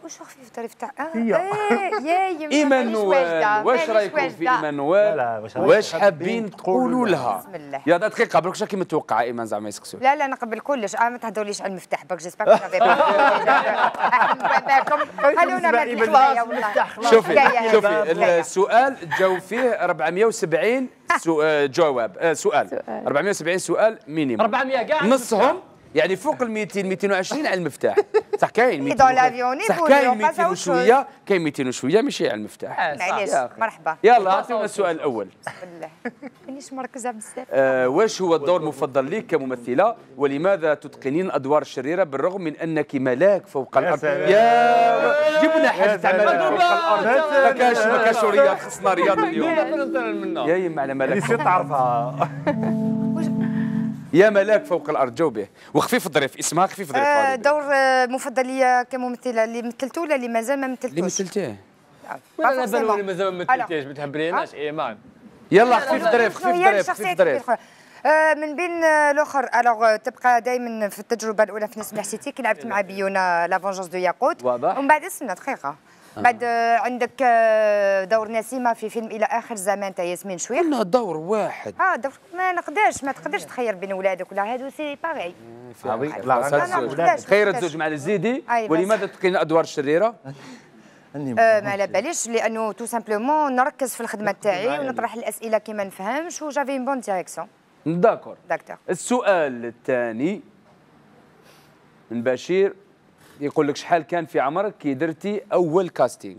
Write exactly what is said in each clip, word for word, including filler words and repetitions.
واش خفيف الظريف تاع اه هي. ايه يا ايمانويل، واش رايكم في ايمانويل؟ واش حابين تقولوا لها؟ بسم الله. يا دقيقه برك كي متوقع ايمان زعما يسكسوا. لا لا نقبل كلش، اه ما تهضروليش على المفتاح برك جيسبر كو نافي با خلونا ما خلاص المفتاح خلاص. شوفي شوفي السؤال تجاوب فيه أربعمية وسبعين جواب، سؤال أربعمية وسبعين سؤال مينيموم، أربعمية كاع نصهم يعني فوق ال مئتين مئتين وعشرين على المفتاح. صح كاين مئتين صح كاين مئتين وشويه، كاين مئتين وشويه ماشي على المفتاح. معليش مرحبا. يلا عطيونا السؤال الاول. بسم الله مانيش مركزه بزاف. آه واش هو الدور المفضل لك كممثله، ولماذا تتقنين الادوار الشريره بالرغم من انك ملاك فوق الارض؟ يا جبنا حاجه تاع ملاك فوق الارض، ما كاش ما كاش رياض، خصنا رياض اليوم. يا يما على ملاك نسيت تعرفها. يا ملاك فوق الارض جاوبيه، وخفيف الظريف اسمها خفيف الظريف. آه دور مفضل ليا كممثله اللي مثلته ولا اللي مازال ما مثلتوش؟ اللي مثلتيه. ولا انا بالي مازال ما مثلتيش، ما تهبريناش ايمان. يلا خفيف الظريف خفيف الظريف خفيف الظريف. آه من بين الاخر الوغ تبقى دائما في التجربه الاولى في ناس حسيتي كي لعبت مع بيونا لافونجونس دو ياقوت، ومن بعد استنى دقيقه بعد عندك دور نسيمه في فيلم الى اخر زمان تاع ياسمين شويخ. قلنا دور واحد. اه دور ما نقدرش ما تقدرش تخير بين ولادك ولا هادو سي باغي. خير الزوج مع الزيدي. ولماذا تقين الادوار الشريره؟ آه ما على باليش لانه تو سامبلومون نركز في الخدمه تاعي ونطرح الاسئله كي ما نفهمش وجافي اون بون ديريكسيون. داكور. داكتور. السؤال الثاني من بشير يقول لك شحال كان في عمرك كي درتي اول كاستينغ؟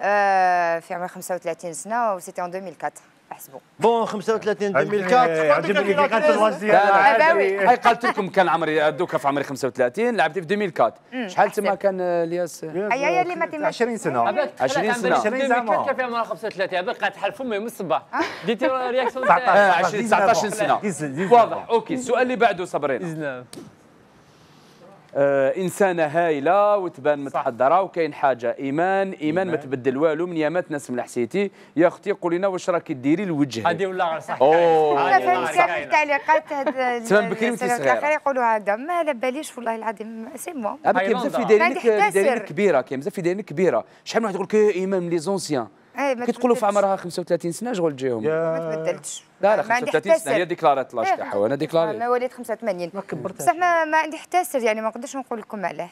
آه في عمري خمسة وثلاثين سنه وسيتي ان ألفين وأربعة احسبوا. بون خمسة وثلاثين ألفين وأربعة عجبني كي قالت الوزير. هاي قالت لكم كان عمري دوكا في عمري خمسة وثلاثين، لعبتي في ألفين وأربعة. شحال تما كان الياس؟ اي اي اللي ما تماش عشرين سنه. عشرين سنه. عشرين سنه كان في عمرها خمسة وثلاثين، هذا قاعد تحل فمي من الصباح. ديتي رياكسيون تاع عشرين تسعطاش سنه. واضح. اوكي السؤال اللي بعده صبرينا. آه انسانه هايله وتبان متحضره وكاين حاجه ايمان ايمان ما تبدل والو من يامات ناس من حسيتي. يا اختي قولي لنا واش راكي ديري لوجهك؟ هذه ولا صح. اوه انا فهمت كاع التعليقات هاد تمام بكري وانت صغيره يقولوا هذا ما على باليش والله العظيم سي مو. كاين بزاف في دايرينك دايرينك كبيره، كاين بزاف في دايرينك كبيره. شحال من واحد يقول لك ايمان من لي زونسيان كي تقولوا في عمرها خمسة وثلاثين سنه شغل تجيهم. ما تبدلتش. لا لا خمسة وثلاثين سنه هي ديكلارات لاج تاعها وانا ديكلاري. انا وليت خمسة وثمانين بصح ما, ما عندي حتى سر يعني ما نقدرش نقول لكم علاه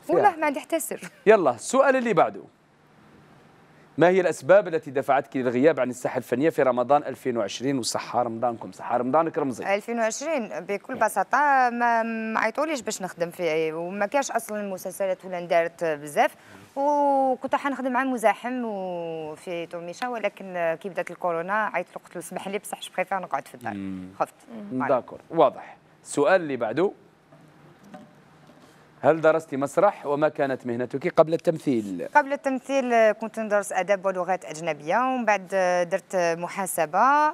والله ما عندي حتى سر. يلا السؤال اللي بعده. ما هي الاسباب التي دفعتك للغياب عن الساحه الفنيه في رمضان ألفين وعشرين وصحه رمضانكم صحه رمضانك رمزي؟ ألفين وعشرين بكل بساطه ما ما عيطوليش باش نخدم فيه وما كاش اصلا المسلسلات ولا ندارت بزاف وكنت حنخدم مع مزاحم وفي توميشا ولكن كي بدات الكورونا عيطت له قلت له اسمح لي بصح جو بريفير نقعد في الدار خفت. داكور واضح. السؤال اللي بعده. هل درست مسرح وما كانت مهنتك قبل التمثيل؟ قبل التمثيل كنت ندرس اداب ولغات اجنبيه ومن بعد درت محاسبه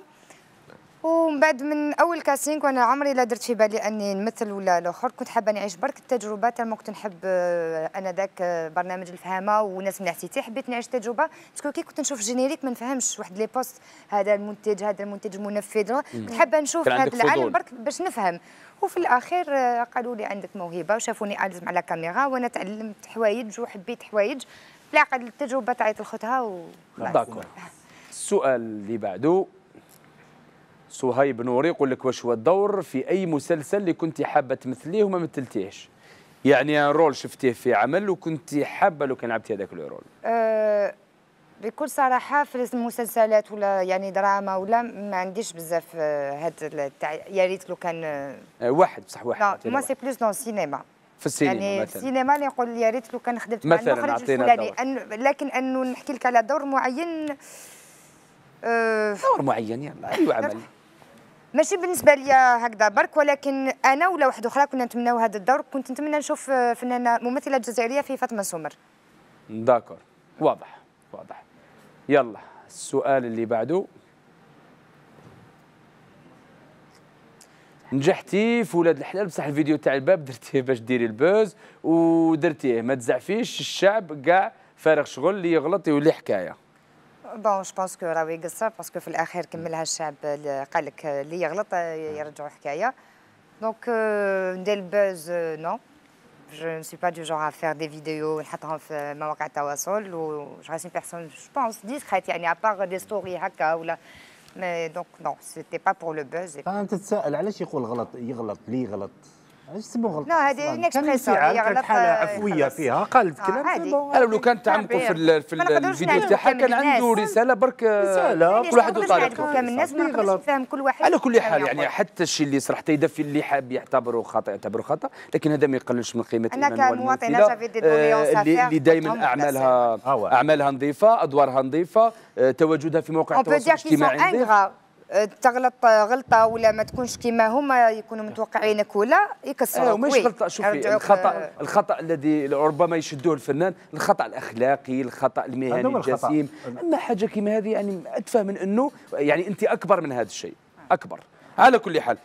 ومن بعد من اول كاسينغ وانا عمري لا درت في بالي اني نمثل ولا الاخر. كنت حابه نعيش برك التجربه تما كنت نحب انا ذاك برنامج الفهامه وناس من حسيتي حبيت نعيش تجربه باسكو كي كنت نشوف جينيريك ما نفهمش واحد لي بوست هذا المنتج هذا المنتج المنفذ كنت حابه نشوف هذا العالم برك باش نفهم وفي الاخير قالوا لي عندك موهبه وشافوني ألزم على كاميرا وانا تعلمت حوايج وحبيت حوايج بالعقل التجربه تعيط لخوتها و داكور. السؤال اللي بعده. صهيب نوري يقول لك واش هو الدور في اي مسلسل اللي كنتي حابه تمثليه وما مثلتيهش؟ يعني رول شفتيه في عمل وكنتي حابه لو كان لعبتي هذاك الرول. أه بكل صراحه في المسلسلات ولا يعني دراما ولا ما عنديش بزاف هذا تاع يا ريت لو كان أه واحد بصح واحد. لا مو سي بلوس دون السينما. في السينما يعني مثلا. في السينما اللي نقول يا ريت لو كان خدمت مع المخرج الفلاني لكن انه نحكي لك على دور معين أه دور معين يلا اي عمل ماشي بالنسبه لي هكذا برك ولكن انا ولا واحد اخرى كنا نتمناو هذا الدور كنت نتمنى نشوف فنانه ممثله جزائريه في فاطمه سمر. داكور واضح واضح. يلا السؤال اللي بعده. نجحتي في ولاد الحلال بصح الفيديو تاع الباب درتيه باش ديري البوز ودرتيه ما تزعفيش الشعب كاع فارغ شغل اللي يغلط يولي حكايه. بون جو بونس كو راهو يقصر باسكو في الاخير كملها الشعب قال لك اللي يغلط يرجعوا حكايه دونك ندير البوز نو جو ne suis pas du genre à faire des vidéos ونحطهم في مواقع التواصل و je reste une personne je pense discrète يعني à part des stories هكا ولا mais donc non c'était pas pour le buzz. انت تتساءل علاش يقول غلط يغلط ليه غلط علاش تسمو غلط؟ لا هذه اون اكسبريسيون هي كانت حاله عفويه فيها قالت كلام عادي. انا لو كان تعمقوا في ال في ال الفيديو تاعها كان عنده رساله برك رساله كل واحد وطريقته كامل الناس ما نقدرش نفهم كل واحد. على كل حال يعني حتى الشيء اللي صرحت يدفي اللي حاب يعتبره خطا يعتبره خطا، لكن هذا ما يقللش من قيمه الإيمان والممثلة اللي, اللي دائما اعمالها اعمالها نظيفه، ادوارها نظيفه، تواجدها في مواقع التواصل الاجتماعي نظيف. تغلط غلطه ولا ما تكونش كيما هما يكونوا متوقعينك ولا يكسروك. أيوة ماشي غلطه، شوفي الخطا الخطا الذي ربما يشدوه الفنان الخطا الاخلاقي، الخطا المهني الجسيم، اما حاجه كيما هذه يعني اتفهم من انه يعني انت اكبر من هذا الشيء اكبر. على كل حال